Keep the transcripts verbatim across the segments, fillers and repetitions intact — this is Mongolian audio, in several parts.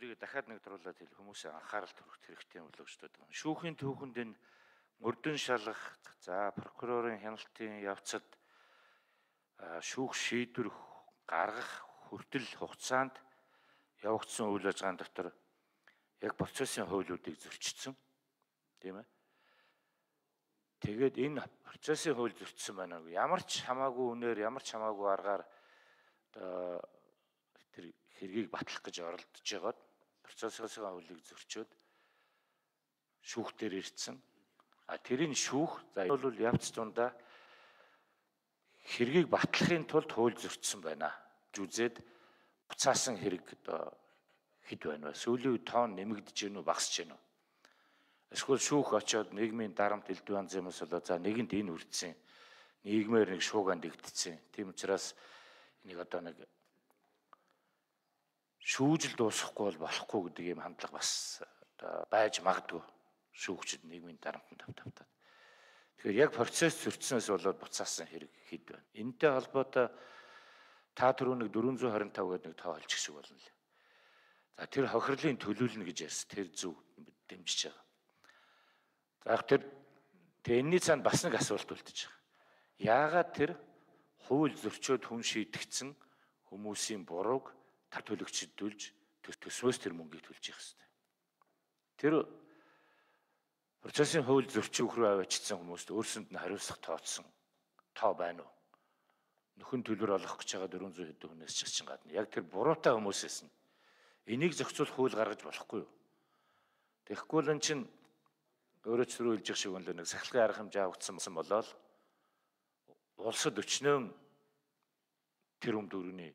тэрийг дахиад нэг дуруулаад хэл хүмүүсийн анхаарал төрөх хэрэгтэй юм болоо гэж боддог. Шүүхийн түүхэнд энэ мөрдөн шалгах, за прокурорын хяналтын явцад шүүх шийдвэр гаргах хүртэл хугацаанд явагдсан үйл ажиллагааны дотор яг процессын хуулиудыг зөрчсөн. Тийм ээ. Тэгээд энэ процессын хууль зөрчсөн байна. Ямар ч хамаагүй үнээр, ямар ч хамаагүй аргаар тэр хэргийг батлах гэж оролдож байгаад процессын хуулийг зөрчөөд шүүх дээр ирсэн. А тэрийн шүүх за бол явц дундаа хэргийг батлахын тулд хууль зөрчсөн байна. Жүзээд буцаасан хэрэг одоо хэд байна вэ? Сүүлийн үед тоон нэмэгдэж гэнэ үү, багасж гэнэ үү? Эсвэл шүүх очоод нийгмийн дарамт элдв янз юмс болоо за нэгэнд энэ үрдсэн. Нийгмээр нэг шууганд игдсэн. Тийм учраас энийг одоо нэг шүүжил дуусгахгүй бол болохгүй гэдэг ийм хандлага бас одоо байж магадгүй шүүгчид нийгмийн дарамтанд тавтавтаад. Тэгэхээр яг процесс зөрчснөөс болоод буцаасан хэрэг хэд байна. Энэтэй холбоотой та түрүү нэг дөрвөн зуун хорин тав гэдэг нэг тоо олчих шиг болно лээ. За тэр хохирлын төлөөлнө гэж ярьсан. Тэр зөв дэмжиж байгаа. За тэр энэний цаанд бас нэг асуулт үлдэж байгаа. Яагаад тэр хууль зөрчөөд хүн шийдэгдсэн хүмүүсийн бурууг тар төлөгчдүүлж төсвөөс тэр мөнгийг төлж явах хэрэгтэй. Тэр процессын хууль зөрчүүх рүү аваачсан хүмүүст өөрсөнд нь хариуцлага тооцсон тоо байна уу? Нөхөн төлбөр олох гэж байгаа дөрвөн зуун хэдэн хүнээс ч чинь гадна яг тэр буруутай хүмүүсээс нь энийг зохицуулах хууль гаргаж болохгүй юу? Тэгэхгүй л эн чинь өөрөө ч түрүү хэлж байгаа шиг үнэлээ нэг сахилгын арга хэмжээ авагдсан болоод улсад өчнөө тэр юм дөрөвний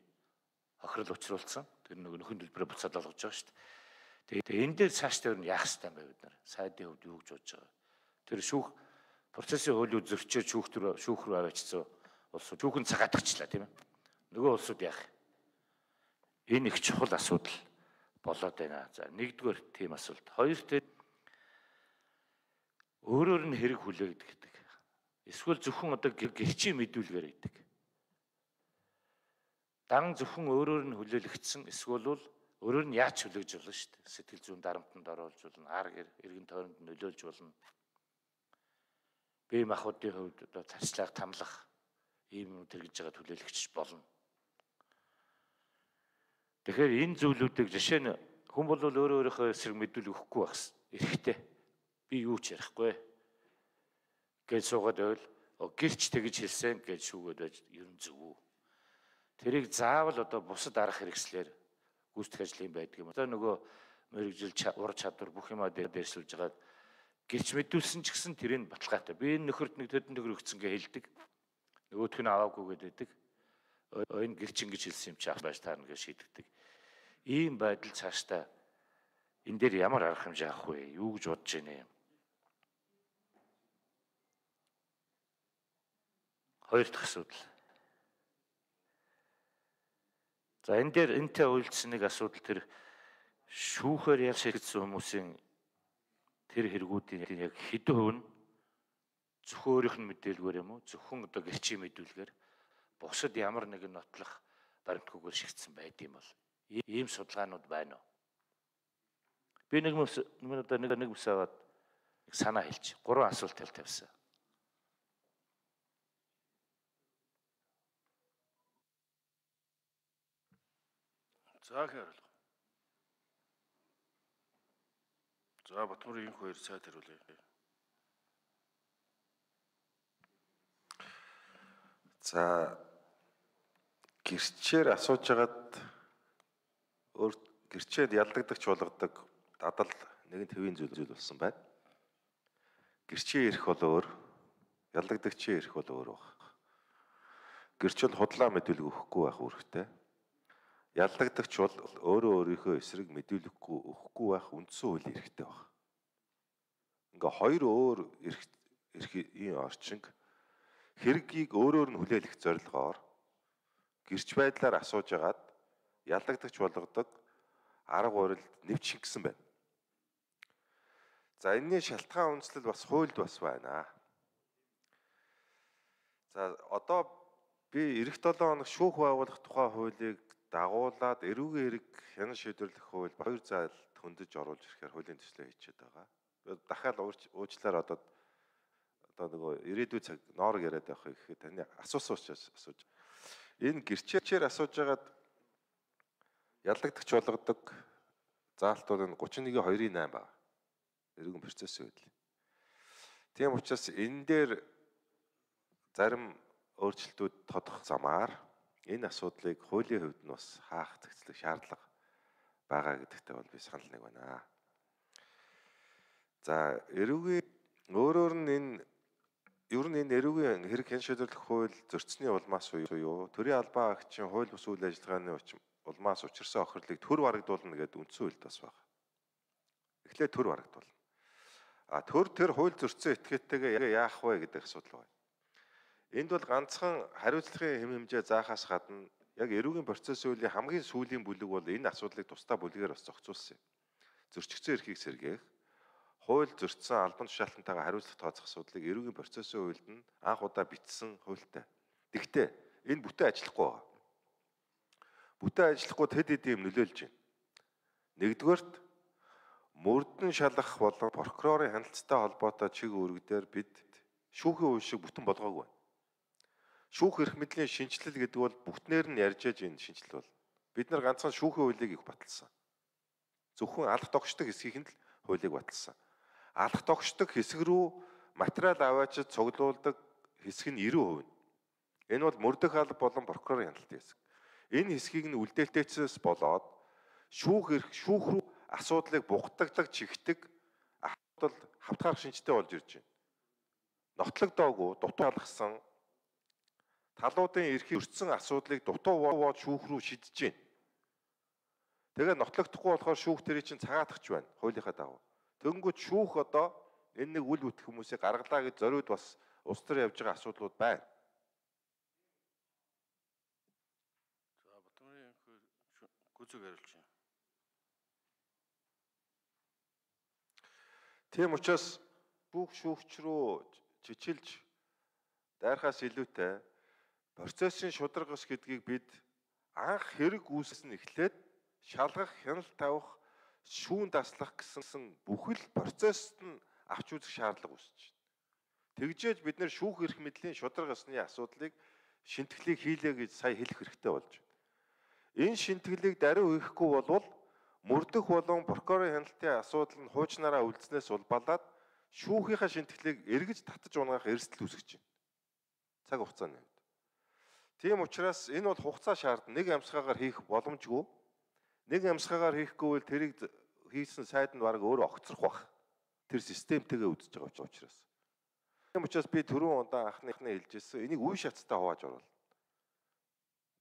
хохирол учруулсан. Тэр нэг нөхөн төлбөрөөр буцаад олгож байгаа шүү дээ. Тэгээд энэ дээр цааш дээр нь яах ёстой юм бэ бид нар? Сайдын хувьд юу гэж бодож байгаа? Тэр шүүх процессын хуулийг зөрчиж шүүх рүү шүүх рүү аваачсан улсууд шүүхэн цагаатагчлаа тийм ээ. Нөгөө улсууд яах? Энэ их чухал асуудал болоод байна. За нэгдүгээр тийм асуулт. Хоёрт өөрөөр нь хэрэг хүлээгдэх гэдэг. Эсвэл зөвхөн одоо гэрчийн мэдүүлгээр гэдэг. Дан зөвхөн өөрөөр нь хүлээлгдсэн эсвэл бол өөрөөр нь яаж хүлээж болно шүү дээ. Сэтгэл зүйн дарамтанд оруулж болно, ар эргэн тойронд нөлөөлж болно. Бие махбодын хувьд одоо царцлах, тамлах ийм юм тэргэж байгаа хүлээлгч болно. Тэгэхээр энэ зүйлүүдийг жишээ нь хүн бол өөрөө өөрийнхөө эсрэг мэдүүлэг өгөхгүй багс. Эрэхтэй. Би юу ч ярихгүй гэж суугаад байвал гэрч тэгж хэлсэн гэж шүүгээд байж ер нь зөв үү? Тэрийг заавал одоо бусад арга хэрэгслэр гүйцэтгэх ажлын байдаг юм. Одоо нөгөө мэрэгжил ур чадвар бүх юмаа дээрсүүлж байгаа гэрч мэдүүлсэн ч гэсэн тэрийг баталгаатай. Би энэ нөхөрт нэг төдөн төгрөг өгсөн гэж хэлдэг. Нөгөөх нь аваагүй гэдэг. Энэ гэрч ингэж хэлсэн юм чи ах байж таарна гэж шийдэгдэг. Ийм байдал цаашдаа энэ дээр ямар арга хэмжээ авах вэ? Юу гэж бодож байна юм? Хоёр дахь асуудал. За энэ дээр энтэй үйлдсэн нэг асуудал тэр шүүхээр ял шийдсэн хүмүүсийн тэр хэрэгүүдийн яг хэдэн хувь нь зөвхөн өөрийнх нь мэдээлгээр юм уу? Зөвхөн одоо гэрчийн мэдүүлгээр бусад ямар нэгэн нотлох баримтгүйгээр шигдсэн байд юм бол ийм судалгаанууд байна уу? Би нэг мэс одоо нэг нэг мэс аваад санаа хэлчих. Гурван асуулт тавьсан. За хэрэг. За Батмөр инх хоёр цайд хариулъя. За гэрчээр асууж хагаад өөр гэрчээд ялдагдагч болгодог дадал нэгэн төвийн зүйл зүйл болсон байна. Гэрчийн эрх бол өөр, ялдагдагчийн эрх бол өөр баг. Гэрч бол худлаа мэдүүлэг өгөхгүй байх үүрэгтэй. Ялдагдагч бол өөрөө өөрийнхөө эсрэг мэдүүлэггүй өгөхгүй байх үндсэн хуулийн эрхтэй баг. Ингээ хоёр өөр эрх эрхийн орчинг хэргийг өөрөөр нь хүлээлгэх зорилгоор гэрч байдлаар асууж агаад ялдагдагч болгодог арга барилд нэвч шингэсэн байна. За энэний шалтгаан үндэслэл бас хуульд бас байна. За одоо би эх долоо хоног шүүх байгуулах тухай хуулийг дагуулад эрүүгийн хэрэг хянан шийдвэрлэх хууль хоёр заалд хөндөж оруулж ирэхээр хуулийн төслөө хийчихэд байгаа. Дахиад уучлаар одоо одоо нөгөө ирээдүйн цаг ноорог яриад байх гэхэд таны асуусан учраас асууж. Энэ гэрчээр асууж байгаад яллагдагч болгодог заалтууд нь гучин нэгэн хоёрын найм байна. Эрүүгийн процессын үед. Тийм учраас энэ дээр зарим өөрчлөлтүүд тодох замаар энэ асуудлыг хуулийн хувьд нь бас хаах зохицлох шаардлага байгаа гэдэгтээ бол би санал нэг байна. За эрүүгийн өөрөөр нь энэ ер нь энэ эрүүгийн хэрэг хэн шийдвэрлэх хууль зөрчсөний улмаас уу төрийн албан агчийн хууль бус үйл ажиллагааны улмаас учирсан охирлыг төр барагдуулна гэдэг үндсэн хуульд бас байна. Эхлээд төр барагдуулна. А төр тэр хууль зөрчсөн этгээдтэйгээ яах вэ гэдэг асуудал байна. Энд бол ганцхан хариуцлагын хэм хэмжээ заахаас гадна яг эрүүгийн процессын үеийн хамгийн сүүлийн бүлэг бол энэ асуудлыг тусдаа бүлгээр бас зохицуулсан юм. Зөрчигдсөн эрхийг сэргээх, хууль зөрчсөн албан тушаалтантайгаа хариуцлах тооцох асуудлыг эрүүгийн процессын хуульд нь анх удаа бичсэн хуультай. Тэгвэл энэ бүтэн ажиллахгүй байгаа. Бүтэн ажиллахгүй тэд хэдийн юм нөлөөлж байна. Нэгдүгээрт мөрдөн шалгах болон прокурорын хяналттай холбоотой чиг үүрэг дээр бид шүүхийн үе шиг бүтэн болгоогүй байна. Шүүх эрх мэдлийн шинжилэл гэдэг бол бүгднээр нь ярьж аж энэ шинжилэл бол бид нар ганцхан шүүхийн хуулийг их баталсан. Зөвхөн алах тогшдог хэсгийг нь л хуулийг баталсан. Алах тогшдог хэсэг рүү материал аваачид цуглуулдаг хэсэг нь ninety percent. Энэ бол мөрдөх алба болон прокурорын хяналтын хэсэг. Энэ хэсгийг нь үлдээлтээцээс болоод шүүх эрх шүүх рүү асуудлыг бугтагдаг чигтэг асуудал хавтгаар шинжтэй болж ирж байна. Нотлогдоогүй дутуу алгасан талуудын эрхийг өртсөн асуудлыг дутуу воод шүүх рүү шидэж байна. Тэгээ нотлогдохгүй болохоор шүүх тэрий чинь цагаатгч байна хуулийнхаа дагуу. Тэгэнгүүт шүүх одоо энэ нэг үл бүтэх хүмүүсийг гаргалаа гэж зориуд бас улс төр явж байгаа асуудлууд байна. За Батмарын гүцэг хариулж байна. Тийм учраас шүүх шүүгч рүү чичилж дайрхаас илүүтэй процессын шударгас гэдгийг бид анх хэрэг үүссэн эхлээд шалгах, хяналт тавих, шүүн даслах гэсэн бүхэл процессд нь авч үзэх шаардлага үүсэж байна. Тэгжээж бид нэр шүүх эрх мэдлийн шударгасны асуудлыг шинтгэлийг хийлээ гэж сая хэлэх хэрэгтэй болж байна. Энэ шинтгэлийг даруй хийхгүй болвол мөрдөх болон прокурорын хяналтын асуудал нь хуучнараа үлдснээс улбалаад шүүхийнхаа шинтгэлийг эргэж татаж унаах эрсдэл үүсгэж байна. Цаг хугацааны үед. Тийм учраас энэ бол хугацаа шаардна. Нэг амьсгаагаар хийх боломжгүй. Нэг амьсгаагаар хийхгүй бол тэрийг хийсэн сайд нь баг өөрөө огцрох бах. Тэр системтэйгээ үдсэж байгаа учраас. Тийм учраас би түрүүн удаан анхныхны хэлжсэн энийг үе шаттай хувааж оруулна.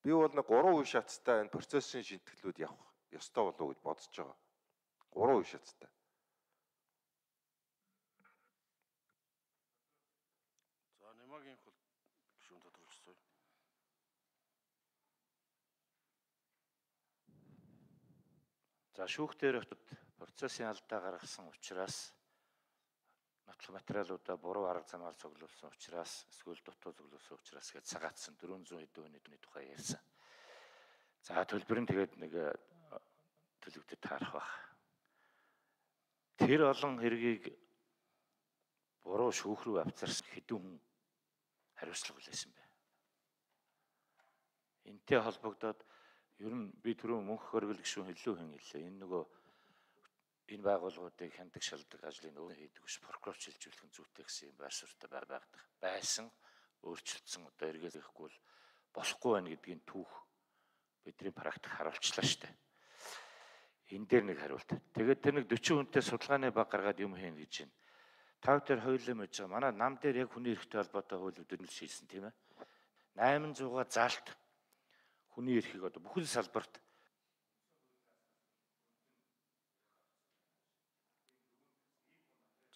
Би бол нэг гурван үе шаттай энэ процессын шинтгэлүүд явах ёстой болов уу гэж бодож байгаа. Гурван үе шаттай. За Нямагийн хол гишүүн тодорхойлчихсон. За шүүх дээр процессын алдаа гаргасан учраас нотлох материалуудаа буруу арга замаар цуглуулсан учраас эсвэл дутуу цуглуулсан учраас гэж цагаатсан дөрвөн зуун хэдэн хүний тухай ярьсан. За төлбөр нь тэгээд нэг төлөвдөд таарах баг. Тэр олон хэргийг буруу шүүх рүү авцарсан хэдэн хүн хариуцлага хүлээсэн бэ. Энтэй холбогдоод ер нь би түрүү мөнх хөргөл гишүүн илүү хэн хэллээ. Энэ нөгөө энэ байгууллагуудыг хяндаг шалдаг ажлыг өөрөө хийдэг биш прокурор шилжүүлэх нь зүйтэй гэсэн юм байр суурьтай байдаг байсан өөрчлөлтсөн одоо эргээхгүй бол болохгүй байна гэдгийг түүх бидний практик харуулчлаа шүү дээ. Энэ дээр нэг хариулт. Тэгээд тэр нэг forty хүнтэй судалгааны баг гаргаад юм хийн гэж байна. Тав дээр хоёулаа мэж байгаа. Манай нам дээр яг хүний эрхтэй холбоотой хууль үүднэл шийдсэн тийм ээ. eight hundred заалт хүний эрхийг одоо бүхэл салбарт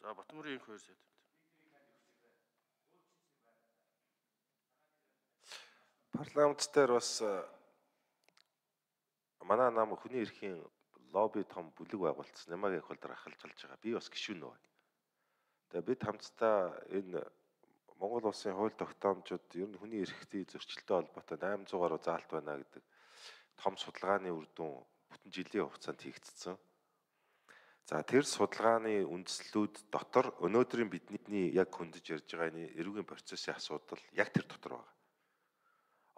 За Батмарын хоёр сайд. Парламент дээр бас манай нам хүний эрхийн лобби том бүлэг байгуулсан. Нямагийн хол дээр ахалж алж байгаа. Би бас гишүүн нөө. Тэгээ бид хамтдаа энэ Монгол улсын хууль тогтоомжууд ер нь хүний эрхтний зөрчилтэй холбоотой eight hundred гаруй заалт байна гэдэг том судалгааны үр дүн бүтэн жилийн хугацаанд хийгдсэн. За тэр судалгааны үндэслэлүүд дотор өнөөдрийн бидний яг хөндөж ярьж байгаа энэ эрүүгийн процессын асуудал яг тэр дотор байна.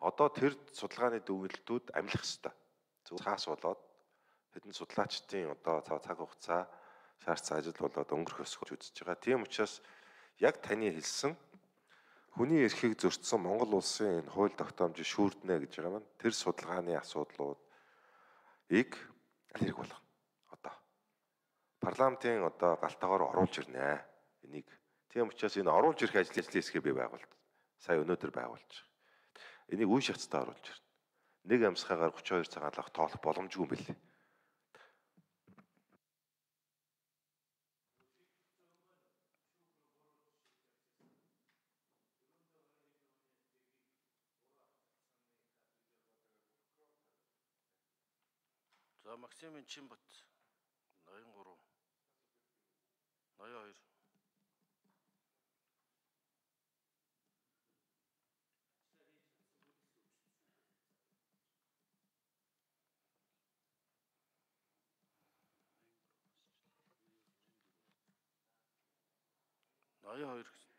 Одоо тэр судалгааны дүгнэлтүүд амлах ёстой. Зөв цаас болоод хэдэн судлаачдын одоо цаг хугацаа шаардсан ажил болоод өнгөрөх ёсгож үзэж байгаа. Тийм учраас яг таны хэлсэн хүний эрхийг зөрчсөн Монгол улсын энэ хууль тогтоомжийг шүүрднэ гэж байгаа маань тэр судалгааны асуудлуудыг аль хэрэг болгоно. Одоо парламентын одоо галтаагаар оруулж ирнэ. Энийг тийм учраас энэ оруулж ирэх ажлын хэсгээ бий байгуулт. Сая өнөөдөр байгуулж байгаа. Энийг үе шаттай оруулж ирнэ. Нэг амьсгаагаар тридцать two цагаан лах тоолох боломжгүй юм билээ. За Максимын Чинбат ноён three ноён two ноён two гэсэн.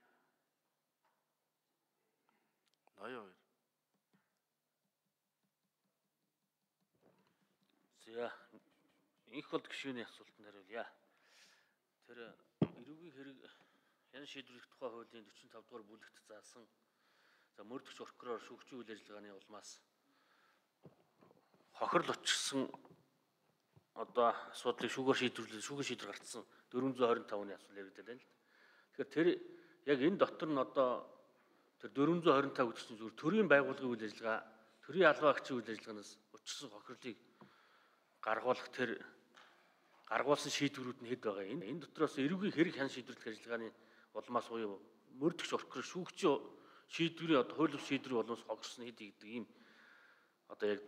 ноён two. За инх бол гишүүний асуултанд хариулъя. Тэр эрүүгийн хэрэг хяналт шийдвэрлэх тухай хуулийн forty-five дугаар бүлэгт заасан за мөрдөгч прокурор шүүгчийн үйл ажиллагааны улмаас хохирол учирсан одоо асуудлыг шүүгээр шийдвэрлэх шүүгийн шийдвэр гаргасан four twenty-five-ны асуул яригдаад байна л. Тэгэхээр тэр яг энэ дотор нь одоо тэр four twenty-five гэдэг чинь зүгээр төрийн байгууллагын үйл ажиллагаа, төрийн албан агчийн үйл ажиллагаанаас учирсан хохирлыг гаргуулах тэр гаргуулсан шийдвэрүүд нь хэд байгаа юм. Энэ дотроос эрүүгийн хэрэг хяналт шийдвэрлэх ажиллагааны улмаас буюу мөрдөгч прокурор шүүгчийн шийдвэрийн одоо хууль шийдвэрийн улмаас хогссон хэд гэдэг ийм одоо яг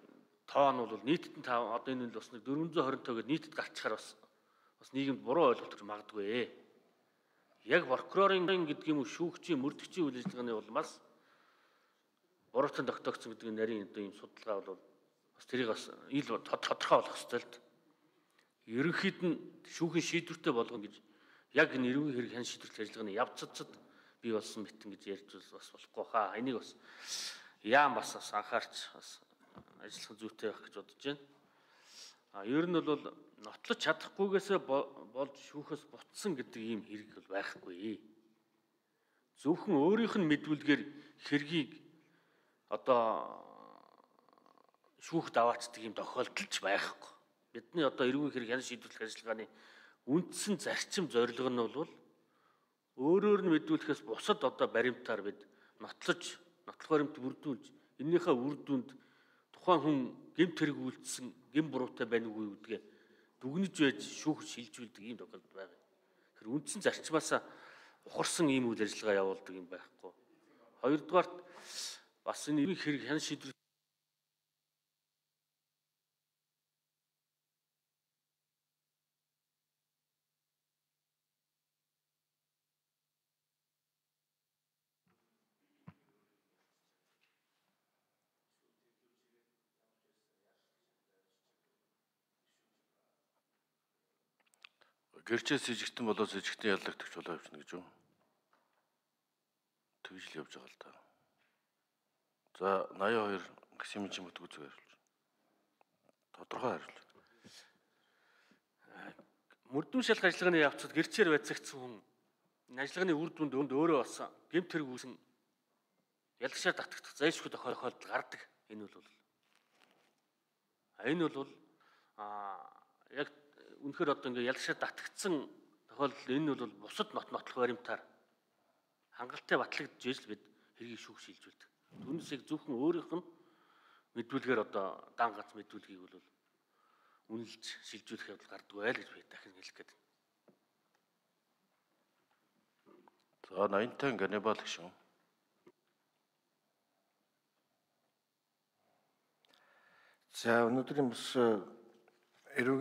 тоо нь бол нийтэд нь одоо энэ нь бас нэг four twenty-five гэдэг нийтэд гарчхаар бас бас нийгэмд буруу ойлголт төрж магадгүй. Яг прокурорын гэдэг юм уу шүүгчийн мөрдөгчийн үйл ажиллагааны улмаас буруутан тогтоогдсон гэдэг нарийн одоо ийм судалгаа бол бас тэрийг бас ил тодорхой болох ёстой л. Ерөнхийд нь шүүхийн шийдвэртэй болгоно гэж яг энэ эрүүгийн хэрэг хяналт шийдвэрлэх ажиллагааны явцад бий болсон мэтэн гэж ярьж бас болохгүй хаа. Энийг бас яам бас бас анхаарч бас ажиллах зүйтэй байх гэж бодож байна. А ер нь бол нотлож чадахгүйгээсээ болж шүүхээс бутсан гэдэг ийм хэрэг бол байхгүй. Зөвхөн өөрийнх нь мэдүүлгээр хэргийг одоо шүүхд аваачдаг юм тохиолдолч байхгүй. Бидний одоо эрүүгийн хэрэг хяналт шийдвэрлэх ажиллагааны үндсэн зарчим зорилго нь бол өөрөөр нь мэдүүлэхээс бусад одоо баримтаар бид нотлож, нотлох баримт бүрдүүлж, энэнийхээ үр дүнд тухайн хүн гэмт хэрэг үйлдсэн, гэм буруутай байна уу гэдгээ дүгнэж байж шүүхд шилжүүлдэг ийм тохиолдол байна. Тэр үндсэн зарчмаас ухарсан ийм үйл ажиллагаа явуулдаг юм байхгүй. Хоёрдугаарт бас энэ эрүүгийн хэрэг хяналт шийдвэрлэх гэрчээс сэжигтэн болоо сэжигтэн яллагдагч болоо явчихна гэж юу? Тэгж л явж байгаа л та. За ninety-two Максимын Чинбат үзэг хариулж. Тодорхой хариулж. Мөрдөн шалгах ажиллагааны явцад гэрчээр байцагдсан хүн энэ ажиллагааны үр дүнд өөрөө бас гэмт хэрэг үүсэн ялагчаар татагдах зайлшгүй тохиолдол гардаг. Энэ бол энэ бол а яг үнэхээр одоо ингээ ялагчаар татагдсан тохиолдол энэ бол бусад нот нотлох баримтаар хангалттай батлагдж ижил бид хэргийг шүүх шилжүүлдэг. Түүнээс яг зөвхөн өөрийнх нь мэдүүлгээр одоо дан гац мэдүүлгийг бол үнэлж шилжүүлэх явдал гардгүй байл гэж би дахин хэлэх гээд. За ninety Ганнибал гişүн. За өнөөдрийн бас эрүүгийн